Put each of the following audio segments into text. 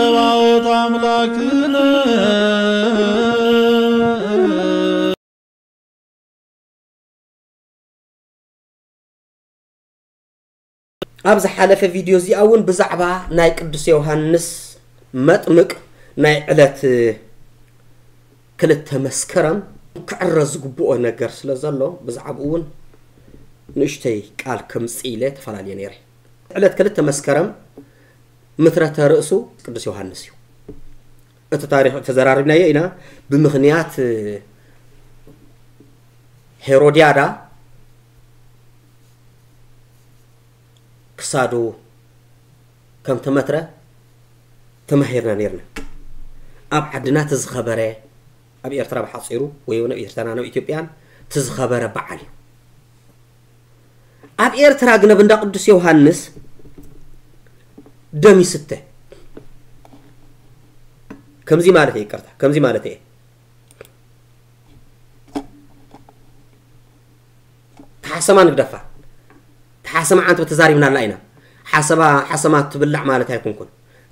ጸባኦት ኣምላክነ። ኣብ ዝሓለፈ ቪድዮ እዚኣ እውን ብዛዕባ ናይ ቅዱስ ዮሃንስ መጥምቅ ናይ ዕለት ክልተ መስከረም ክዕረ ዝግብኦ ነገር ስለ ዘሎ ብዛዕባኡ እውን ንእሽተይ ቃል ከምጽእ ኢለ ተፈላለየ ነይረ። ዕለት ክልተ መስከረም ምትረተ ርእሱ ቅዱስ ዮሃንስ እዩ። እቲ ታሪኽ ተዘራሪብናዮ ኢና። ብምኽንያት ሄሮድያዳ ክሳዱ ከም ተመትረ ተማሂርና ነይርና። ኣብ ዓድና እቲ ዝኸበረ፣ ኣብ ኤርትራ ብሓጺሩ ወይ እውን ኣብ ኤርትራን ኣብ ኢትዮጵያን እቲ ዝኸበረ በዓል እዩ። ኣብ ኤርትራ ግን ኣብ እንዳ ቅዱስ ዮሃንስ ደም ይስተ። ከምዚ ማለት እየ፣ ይቅርታ፣ ከምዚ ማለት እየ። ተሓሰማ ንግደፋ። ተሓሰማ ዓንተቦ ተዛሪብናላ ኢና። ሓሰባ፣ ሓሰማ ትብላዕ ማለት ኣይኮንኩን።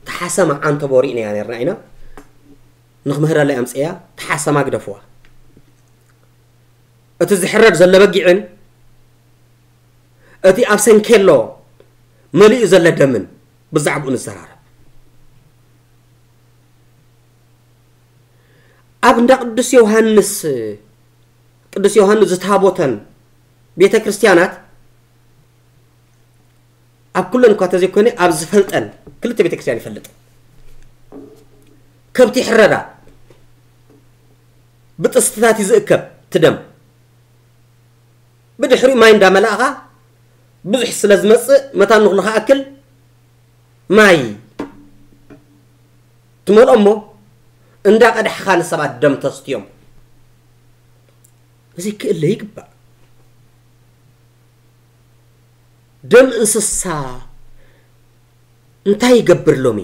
ተሓሰማ ዓንተቦ ሪእናያ ነርና ኢና። ንኽምህረላ ኣምፅያ፣ ተሓሰማ ግደፍዋ። እቲ ዝሕረድ ዘሎ በጊዕን እቲ ኣብ ሰንኬሎ መሊኡ ዘሎ ደምን ብዛዕባኡ ንዘራረብ። ኣብ እንዳ ቅዱስ ዮሃንስ፣ ቅዱስ ዮሃንስ ዝታቦተን ቤተ ክርስቲያናት ኣብ ኩለን እኳ ተዘይኮነ ኣብ ዝፈልጠን ክልተ ቤተ ክርስቲያን ይፈልጥ። ከብቲ ይሕረዳ፣ ብጥስትታት እዩ ዝእከብ እቲ ደም። ብድሕሪኡ ማይ እንዳመላእኻ ብዙሕ ስለ ዝመጽእ መታን ንኽሉ ክኣክል ማይ ትመልኦ እሞ እንዳቐዳሕኻ ንሰባት ደም ተስትዮም። እዚ ክእለ ይግባእ። ደም እንስሳ እንታይ ይገብር ሎሚ?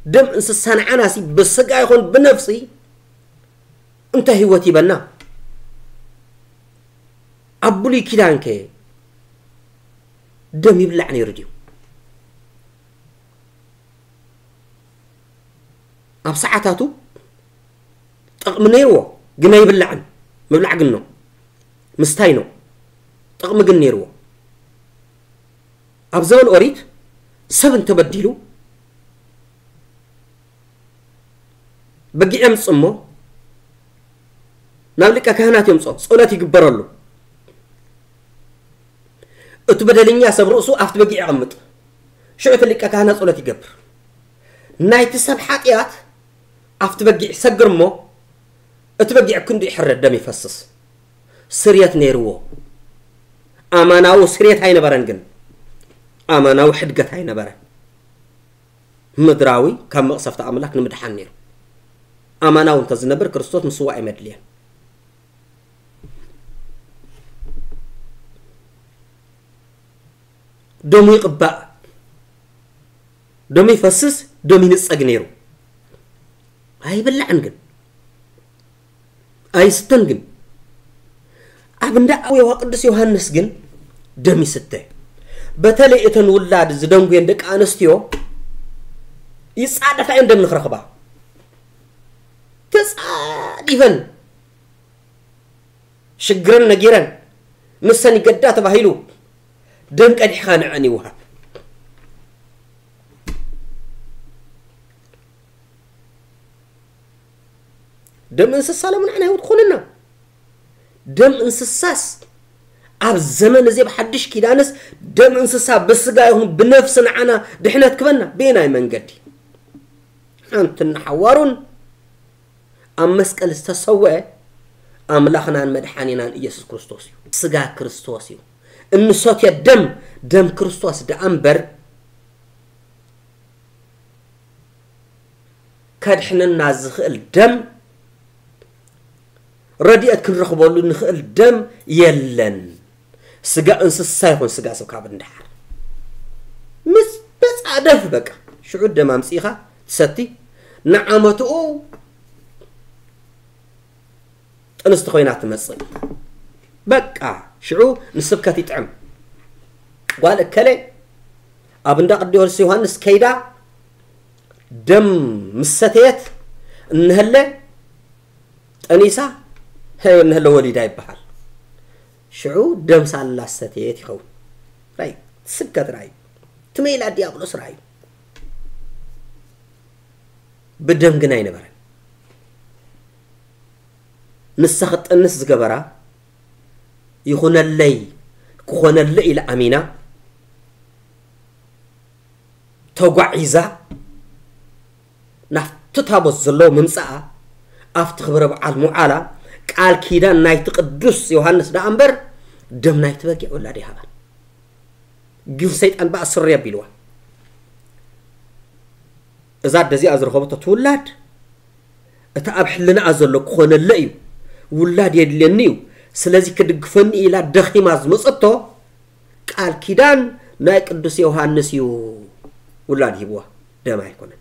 ደም እንስሳ ንዓናሲ ብስጋ ይኹን ብነፍሲ እንታይ ህይወት ይበና? ኣብ ብሉይ ኪዳንከ ደም ይብላዕ ነይሩ ድዩ? ኣብ ሰዓታቱ ጥቕሚ ነይርዎ፣ ግን ኣይብላዕን። ምብላዕ ግን ነው፣ ምስታይ ነው። ጥቕሚ ግን ነይርዎ። ኣብ ዘበን ኦሪት ሰብ እንተበዲሉ በጊዕ የምጽእ እሞ ናብ ሊቀ ካህናት የምጽኦ፣ ጸሎት ይግበረሉ። እቲ በደለኛ ሰብ ርእሱ ኣብቲ በጊዕ የቐምጥ። ሽዑ እቲ ሊቀ ካህናት ጸሎት ይገብር። ናይቲ ሰብ ሓጢኣት ኣብቲ በጊዕ ይሰግር እሞ እቲ በጊዕ ክንዱ ይሕረድ፣ ደም ይፈስስ። ስርየት ነይርዎ። ኣማናዊ ስርየት ኣይነበረን፣ ግን ኣማናዊ ሕድገት ኣይነበረን። ምድራዊ ካብ መቕሰፍቲ ኣምላኽ ንምድሓን ነይሩ። ኣማናዊ እንተዝነብር ክርስቶስ ምስዋእ ኣይመድልየን። ደሙ ይቕባእ፣ ደሙ ይፈስስ፣ ደሙ ይንጸግ ነይሩ። ኣይብላዕን ግን ኣይስተን ግን። ኣብ እንዳ ኣዌዋ ቅዱስ ዮሃንስ ግን ደም ይስተ። በተለይ እተን ውላድ ዝደንጉየን ደቂ ኣንስትዮ ይጻደፋ እየን ደም ንኽረኽባ። ተጻዲፈን ሽግረን ነጊረን ንሰን ይገዳ ተባሂሉ ደም ቀዲሕኻ ንዐን ይወሃብ። ደም እንስሳ ሎሚ ንዓና ህይወት ትኾነና። ደም እንስሳስ ኣብ ዘመን እዚ ኣብ ሓድሽ ኪዳንስ ደም እንስሳ ብስጋ ይኹን ብነፍሲ ንዓና ድሕነት ክበና በየናይ መንገዲ? ሓንቲ ንሓዋሩን ኣብ መስቀል ዝተሰወአ ኣምላኽናን መድሓኒናን ኢየሱስ ክርስቶስ እዩ። ስጋ ክርስቶስ እዩ። እንሰትዮ ደም፣ ደም ክርስቶስ ደኣ እምበር ከድሕነና ዝኽእል ደም፣ ረድኤት ክንረኽበሉ ንኽእል ደም የለን። ስጋ እንስሳ ይኹን ስጋ ሰብ ካብ እንድሓር ምስ ተጻደፍ በቃ ሽዑ ደም ኣምጺእኻ ትሰቲ፣ ንዓመትኡ ጥንስቲ ኮይና ትመጽእ። በቃ ሽዑ ንስብከት ይጥዕም። ጓል እከለ ኣብ እንዳ ቅዱስ ዮሃንስ ከይዳ ደም ምስ ሰተየት፣ እንሀለ ጠኒሳ፣ እንሀለ ወሊዳ ይበሃል። ሽዑ ደም ሳላ ሰተየት ይኸውን። ራይ፣ ስብከት ራይ፣ ትመይላ ዲያብሎስ ራይ። ብደም ግን ኣይነበረን። ንሳ ክትጠንስ ዝገበራ፣ ይኹነለይ፣ ክኾነለይ ኢላ ኣሚና፣ ተጓዒዛ፣ ናብቲ ታቦት ዘለዎ ምምጻኣ፣ ኣብቲ ክብረ በዓል ምውዓላ፣ ቃል ኪዳን ናይቲ ቅዱስ ዮሃንስ ደኣ እምበር፣ ደም ናይቲ በጊዕ ወላዲ ይሃባን። ግን ሰይጣን በኣ ስሪ ኣቢልዋ። እዛ ኣደ እዚኣ ዝረኸበቶ እቲ ውላድ፣ እቲ ኣብ ሕልናኣ ዘሎ ክኾነለ እዩ፣ ውላድ የድልየኒ እዩ፣ ስለዚ ክድግፈኒ ኢላ ደኺማ ዝመጸቶ ቃል ኪዳን ናይ ቅዱስ ዮሃንስ እዩ። ውላድ ሂብዋ፣ ደም ኣይኮነን።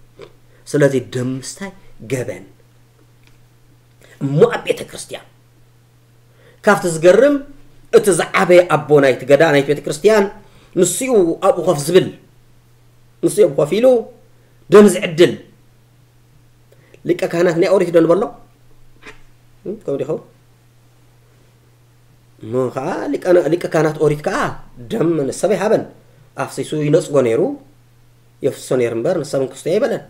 ስለዚ ደም ምስታይ ገበን። እሞ ኣብ ቤተ ክርስቲያን ካብቲ ዝገርም፣ እቲ ዝዓበየ ኣቦ ናይቲ ገዳ ናይቲ ቤተ ክርስቲያን ንሱ እዩ ኣብኡ ኮፍ ዝብል፣ ንሱ እዩ ኣብኡ ኮፍ ኢሉ ደም ዝዕድል። ሊቀ ካህናት ናይ ኦሪት ዶ ንበሎ? እም፣ ከምኡ ዲኸውን? እሞ ኸዓ ሊቀ፣ ሊቀ ካህናት ኦሪት ከኣ ደም ንሰብ ኣይሃበን። ኣፍሲሱ ይነጽጎ ነይሩ፣ የፍስሶ ነይሩ እምበር ንሰብ እንክስቶ ኣይበለን።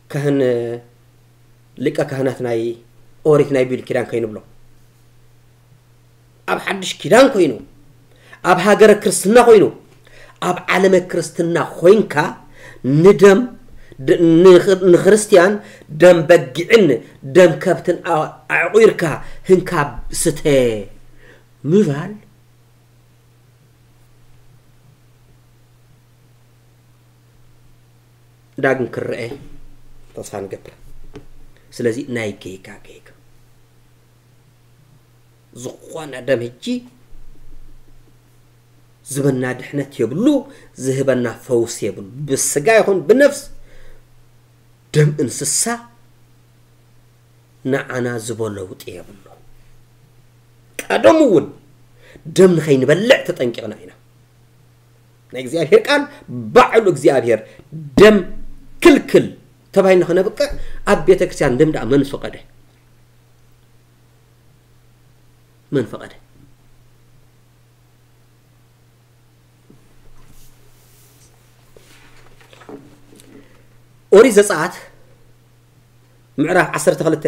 ካህን፣ ሊቀ ካህናት ናይ ኦሪት ናይ ብሉይ ኪዳን ከይንብሎ፣ ኣብ ሓድሽ ኪዳን ኮይኑ፣ ኣብ ሃገረ ክርስትና ኮይኑ፣ ኣብ ዓለመ ክርስትና ኮይንካ ንደም ድ-፣ ንኽ-፣ ንክርስትያን ደም በጊዕን ደም ከብትን ኣ-፣ ኣዕቑርካ ህንካ ስተ ምባል ዳግም ክረአ ተስፋ ንገብር። ስለዚ ናይ ጌጋ ጌጋ። ዝኾነ ደም ሕጂ ዝህበና ድሕነት የብሉ፣ ዝህበና ፈውስ የብሉ። ብስጋ ይኹን ብነፍስ ደም እንስሳ ንዓና ዝቦ ለውጢ የብሉ። ቀደሙ እውን ደም ንኸይንበልዕ ተጠንቂቕና ኢና። ናይ እግዚኣብሔር ቃል ባዕሉ እግዚኣብሔር ደም ክልክል ተባሂልና ከነብቅዕ ኣብ ቤተ ክርስቲያን ደም ደኣ መን ፈቐደ? መን ፈቐደ? ኦሪት ዘጸኣት ምዕራፍ ዓሰርተ ክልተ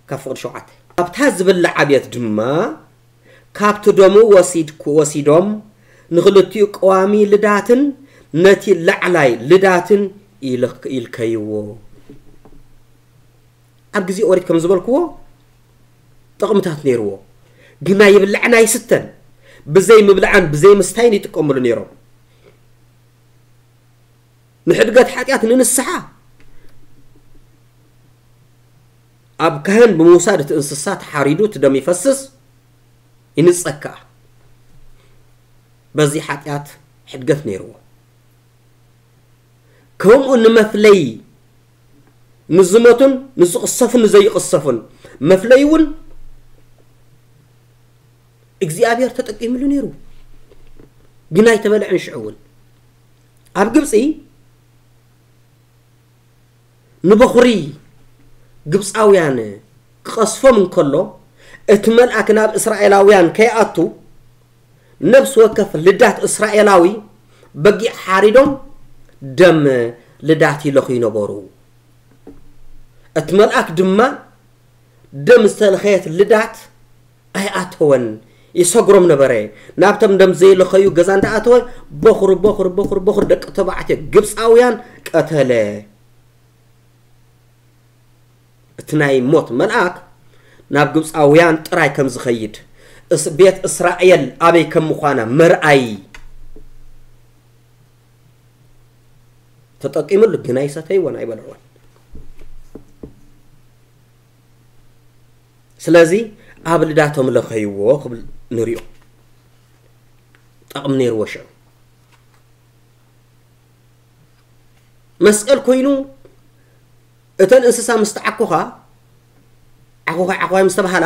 ካብ ፍቕዲ ሸውዓተ። ኣብታ ዝብላዓ ቤት ድማ ካብቲ ደሙ ወሲድኩ-፣ ወሲዶም ንኽልቲኡ ቀዋሚ ልዳትን ነቲ ላዕላይ ልዳትን ኢልክ-፣ ኢልከይዎ። ኣብ ግዜ ኦሪት ከም ዝበልክዎ ጥቕምታት ነይርዎ። ግን ናይ ይብላዕን ኣይስተን፣ ብዘይ ምብላዕን ብዘይ ምስታይን ይጥቀምሉ ነይሮም። ንሕድገት ሓጢኣት፣ ንንስሓ፣ ኣብ ካህን ብምውሳድ እቲ እንስሳ ተሓሪዱ እቲ ደም ይፈስስ፣ ይንጸግ ከኣ። በዚ ሓጢኣት ሕድገት ነይርዎ። ከምኡ ንመፍለዪ ንዝሞቱን ንዝቕሰፉን ንዘይቕሰፉን መፍለዪ እውን እግዚኣብሔር ተጠቂምሉ ነይሩ። ግን ኣይተበልዐን። ሽዑ እውን ኣብ ግብፂ ንበኹሪ ግብፃውያን ክቐስፎም እንከሎ፣ እቲ መልኣክ ናብ እስራኤላውያን ከይኣቱ፣ ነፍሲ ወከፍ ልዳት እስራኤላዊ በጊዕ ሓሪዶም ደም ልዳት ይለኽዩ ነበሩ። እቲ መልኣክ ድማ ደም ዝተለኸየት ልዳት ኣይኣተወን፣ ይሰግሮም ነበረ። ናብቶም ደም ዘይለኸዩ ገዛ እንዳኣተወ፣ በኹሪ፣ በኹሪ፣ በኹሪ፣ በኹሪ ደቂ ተባዕትዮ ግብፃውያን ቀተለ። እቲ ናይ ሞት መልኣክ ናብ ግብፃውያን ጥራይ ከም ዝኸይድ፣ እስ-፣ ቤት እስራኤል ኣበይ ከም ምዃና መርኣይ ተጠቂምሉ፣ ግን ኣይሰተይዎን፣ ኣይበልዕዎን። ስለዚ ኣብ ልዳቶም ለኸይዎ ክብል ንሪኦ። ጠቕሚ ነይርዎ ሽዑ። መስቀል ኮይኑ እተን እንስሳ ምስ ተዓኮኻ፣ ዓኾኻ ዓኾኻ ምስ ተባሃላ፣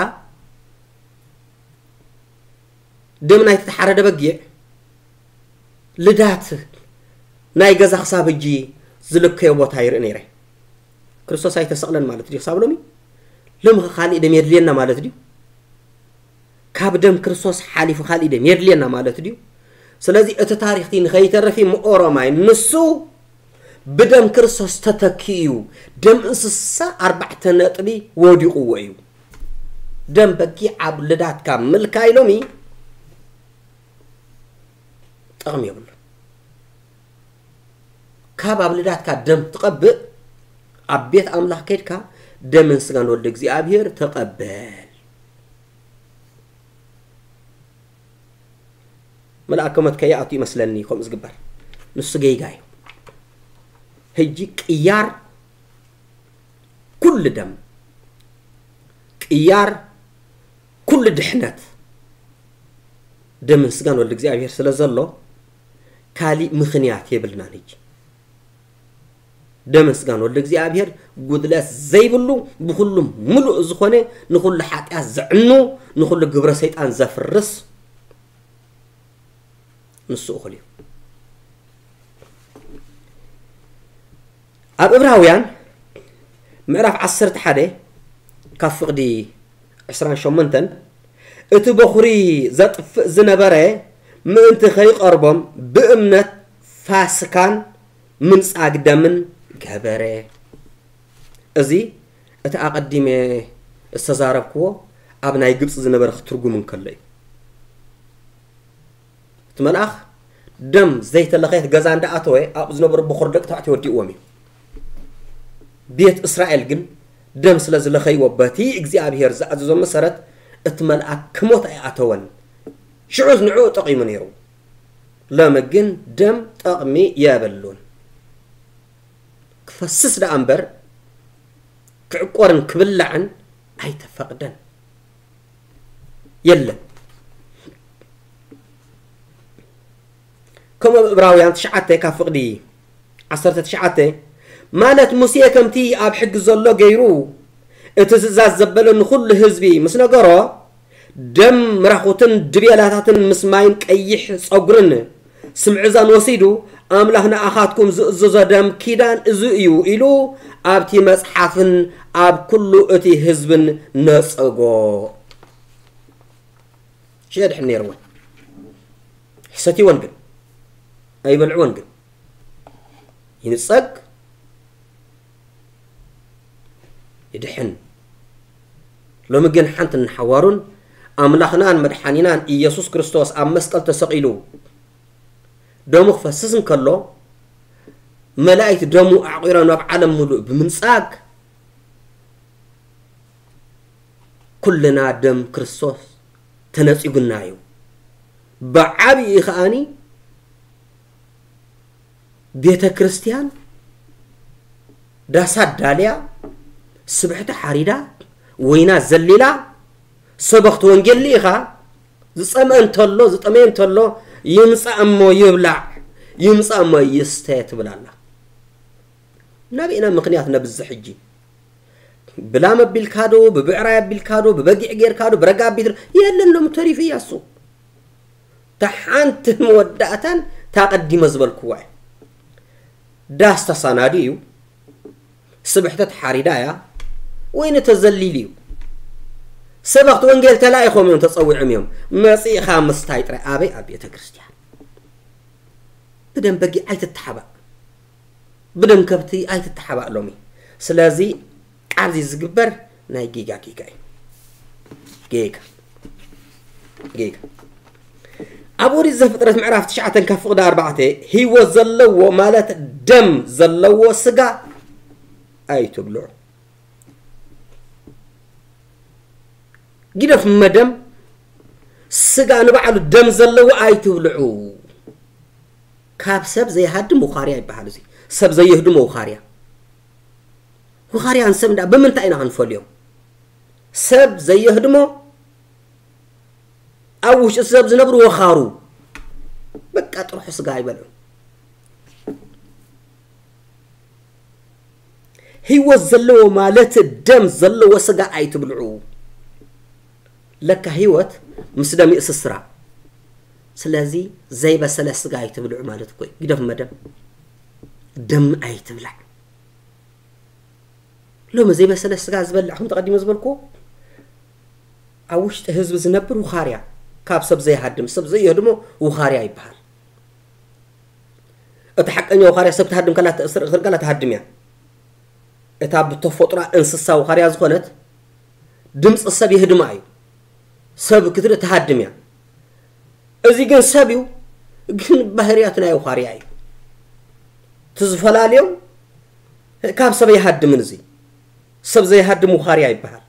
ደም ናይቲ ተሓረደ በጊዕ፣ ልዳት ናይ ገዛ ክሳብ ሕጂ ዝልከዮ ቦታ ይርኢ ነይረ። ክርስቶስ ኣይተሰቕለን ማለት ድዩ ክሳብ ሎሚ? ሎሚ ኸ ካልእ ደም የድልየና ማለት ድዩ? ካብ ደም ክርስቶስ ሓሊፉ ካልእ ደም የድልየና ማለት ድዩ? ስለዚ እቲ ታሪኽቲ ንኸይተርፍ እሞ ኦሮማይ ንሱ ብደም ክርስቶስ ተተኪኡ እዩ። ደም እንስሳ ኣርባዕተ ነጥቢ ወዲቕዎ እዩ። ደም በጊዕ ኣብ ልዳትካ ምልካይ ሎሚ ጥቕሚ የብሉን። ካብ ኣብ ልዳትካ ደም ትቐብእ ኣብ ቤት ኣምላኽ ከይድካ ደምን ስጋን ወልደ እግዚኣብሔር ተቐበል። መልኣከ ሞት ከይኣቱ ይመስለኒ ከምኡ ዝግበር። ንሱ ጌጋ እዩ። ሕጂ ቅያር ኩሉ ደም፣ ቅያር ኩሉ ድሕነት ደምን ስጋን ወልድ እግዚኣብሔር ስለ ዘሎ ካሊእ ምኽንያት የብልናን። ሕጂ ደምን ስጋን ወልድ እግዚኣብሔር ጉድለት ዘይብሉ ብኹሉ ምሉእ ዝኾነ ንኹሉ ሓጢኣት ዘዕኑ ንኹሉ ግብረ ሰይጣን ዘፍርስ ንሱ እኹል እዩ። ኣብ እብራውያን ምዕራፍ ዓሰርተ ሓደ ካብ ፍቕዲ ዕስራን ሸሞንተን እቲ በኹሪ ዘጥፍእ ዝነበረ ምእንቲ ከይቐርቦም ብእምነት ፋስካን ምንጻግ ደምን ገበረ። እዚ እቲ ኣቐዲመ ዝተዛረብክዎ ኣብ ናይ ግብፂ ዝነበረ ክትርጉም እንከሎ እዩ። እቲ መልኣኽ ደም ዘይተለኸየት ገዛ እንዳኣተወ ኣብኡ ዝነበሩ በኹር ደቂ ተባዕትዮ ወዲእዎም እዩ። ቤት እስራኤል ግን ደም ስለ ዝለኸይዎ በቲ እግዚኣብሔር ዝኣዘዞ መሰረት እቲ መልኣክ ክሞት ኣይኣተወን። ሽዑስ ንዕኡ ጠቒሙ ነይሩ። ሎሚ ግን ደም ጠቕሚ የብሉን። ክፈስስ ደኣ እምበር ክዕቆርን ክብላዕን ኣይተፈቕደን። የለን። ከምኡ ኣብ እብራውያን ትሽዓተ ካብ ፍቕዲ ዓሰርተ ትሽዓተ ማለት ሙሴ ከምቲ ኣብ ሕጊ ዘሎ ገይሩ እቲ ትእዛዝ ዘበለ ንኹሉ ህዝቢ ምስ ነገሮ ደም ምራኹትን ድቤላታትን ምስ ማይን ቀይሕ ጸጉርን ስምዕዛን ወሲዱ ኣምላኽ ንኣኻትኩም ዝእዝዞ ደም ኪዳን እዚ እዩ ኢሉ ኣብቲ መጽሓፍን ኣብ ኩሉ እቲ ህዝብን ነጸጎ። ሽየድሕን ነይርወን ሕሰትወን ግን ኣይበልዕወን ግን ይንጸግ ይድሕን። ሎሚ ግን ሓንቲ ንሓዋሩን ኣምላኽናን መድሓኒናን ኢየሱስ ክርስቶስ ኣብ መስቀል ተሰቒሉ ደሙ ክፈስስ እንከሎ መላእክት ደሙ ኣዕቒሮም ናብ ዓለም ምሉእ ብምንጻግ ኩልና ደም ክርስቶስ ተነጺጉና እዩ። ብዓብዪ ከኣኒ ቤተ ክርስቲያን ዳሳ ዳልያ ስብሕቲ ሓሪዳ ወይና ዘሊላ ሰበኽቲ ወንጌል ልኢኻ ዝጸምአ እንተሎ ዝጠመየ እንተሎ ይምጻእ እሞ ይብላዕ ይምጻእ እሞ ይስተ ትብል ኣላ። ናበይ ኢና ምኽንያት ነብዝሕ ሕጂ? ብላም ኣቢልካ ዶ ብብዕራይ ኣቢልካ ዶ ብበጊዕ ጌርካ ዶ ብረጋ ኣቢት የለን ሎም ተሪፉ እያ እሱ። እታ ሓንቲ መወዳእታን እታ ቀዲመ ዝበልክዋ እያ። ዳስ ተሳናዱ እዩ። ስብሕተ ተሓሪዳ እያ። ወይኒ ተዘሊሉ እዩ። ሰበኽቲ ወንጌል ተላኢኾም እዮም ተጸዊዖም እዮም። መጺእኻ ምስታይ ጥራይ ኣበይ ኣብ ቤተ ክርስቲያን። ብደም በጊዕ ኣይትተሓባእ። ብደም ከብቲ ኣይትተሓባእ ሎሚ። ስለዚ ኣብዚ ዝግበር ናይ ጌጋ ጌጋ እዩ። ጌጋ ጌጋ ኣብ ኦሪት ዘፍጥረት ምዕራፍ ትሽዓተ ካብ ፍቕዲ ኣርባዕተ ህይወት ዘለዎ ማለት ደም ዘለዎ ስጋ ኣይትብልዑ። ግደፍ መደም ስጋ ንባዕሉ ደም ዘለዎ ኣይትብልዑ። ካብ ሰብ ዘይሃድም ውኻርያ ይበሃል። እዚ ሰብ ዘየህድሞ ውኻርያ። ውኻርያን ሰብ እንዳ ብምንታይ ኢና ክንፈልዮም? ሰብ ዘየህድሞ ኣብ ውሽጢ ሰብ ዝነብሩ ወኻሩ በቃ ጥርሑ ስጋ ኣይበልዑ። ህይወት ዘለዎ ማለት ደም ዘለዎ ስጋ ኣይትብልዑ። ለካ ህይወት ምስ ደም ይእስስራ። ስለዚ ዘይበሰለ ስጋ ኣይትብልዑ ማለት እኮ እዩ። ግደፍ መደም። ደም ኣይትብላዕ። ሎሚ ዘይበሰለ ስጋ ዝበልዕ ከም ተቐዲመ ዝበልኩ ኣብ ውሽጢ ህዝቢ ዝነብር ውኻርያ፣ ካብ ሰብ ዘይሃድም ሰብ ዘየህድሞ ውኻርያ ይበሃል። እቲ ሓቀኛ ውኻርያ ሰብ ትሃድም ከላ ትእስር እኽል ከላ ትሃድም እያ። እታ ብተፈጥሮ እንስሳ ውኻርያ ዝኾነት ድምፂ ሰብ የህድማ እዩ። ሰብ ክትርኢ ትሃድም እያ። እዚ ግን ሰብ እዩ፣ ግን ባህርያቱ ናይ ውኻርያ እዩ። እቲ ዝፈላልዮም ካብ ሰብ ኣይሃድምን። እዚ ሰብ ዘይሃድም ውኻርያ ይበሃል።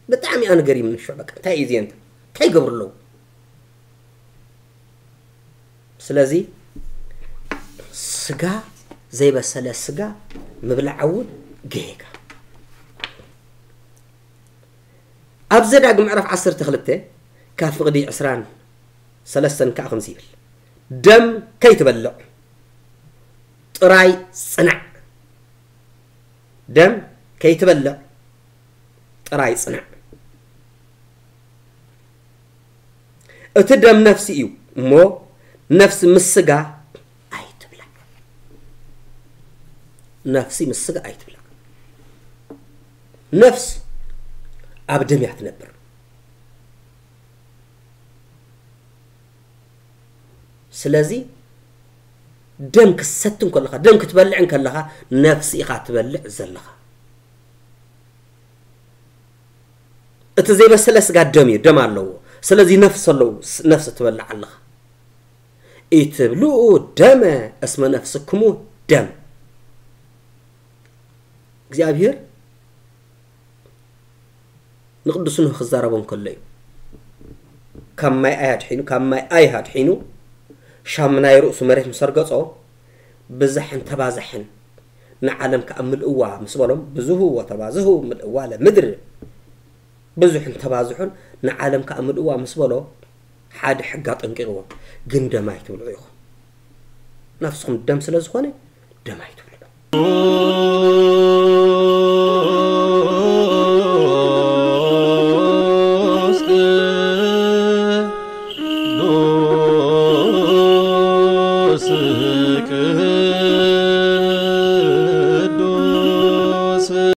ብጣዕሚ ኣነ ገሪምኒ። ሽዑ በቃ እንታይ እዩ ዜንተ እንታይ ይገብሩ ኣለዉ? ስለዚ ስጋ ዘይበሰለ ስጋ ምብላዕ እውን ጌጋ። ኣብ ዘዳግም ምዕራፍ ዓሰርተ ክልተ ካብ ፍቕዲ ዕስራን ሰለስተን ከዓ ከምዚ ይብል፣ ደም ከይትበልዕ ጥራይ ጽናዕ። ደም ከይትበልዕ ጥራይ ጽናዕ። እቲ ደም ነፍሲ እዩ እሞ ነፍሲ ምስ ስጋ ኣይትብላዕ። ነፍሲ ምስ ስጋ ኣይትብላዕ። ነፍስ ኣብ ደም እያ ትነብር። ስለዚ ደም ክትሰቲ እንከለኻ፣ ደም ክትበልዕ እንከለኻ ነፍሲ ኢኻ ትበልዕ ዘለኻ። እቲ ዘይበሰለ ስጋ ደም እዩ፣ ደም ኣለዎ። ስለዚ ነፍሲ ኣለዎ፣ ነፍሲ ትበልዕ ኣለኻ። ኢትብልኡ ደመ እስመ ነፍስክሙ ደም። እግዚኣብሔር ንቅዱስ ኖህ ክዛረቦ እንከሎ እዩ። ካብ ማይ ኣይ ኣድሒኑ፣ ካብ ማይ ኣይ ኣድሒኑ፣ ሻም ናይ ርእሱ መሬት ምስ ኣርገጾ፣ ብዝሕን ተባዝሕን ንዓለም ከኣ ምልእዋ ምስ በሎም፣ ብዙሁ ወተባዝሁ ምልእዋ ለምድር፣ ብዙሕን ተባዝሑን ንዓለም ከኣ ምልእዋ ምስ በሎ፣ ሓደ ሕጊ ኣጠንቂቕዎም። ግን ደም ኣይትብልዑ ኢኹም። ነፍስኹም ደም ስለ ዝኾነ፣ ደም ኣይትብልዑ።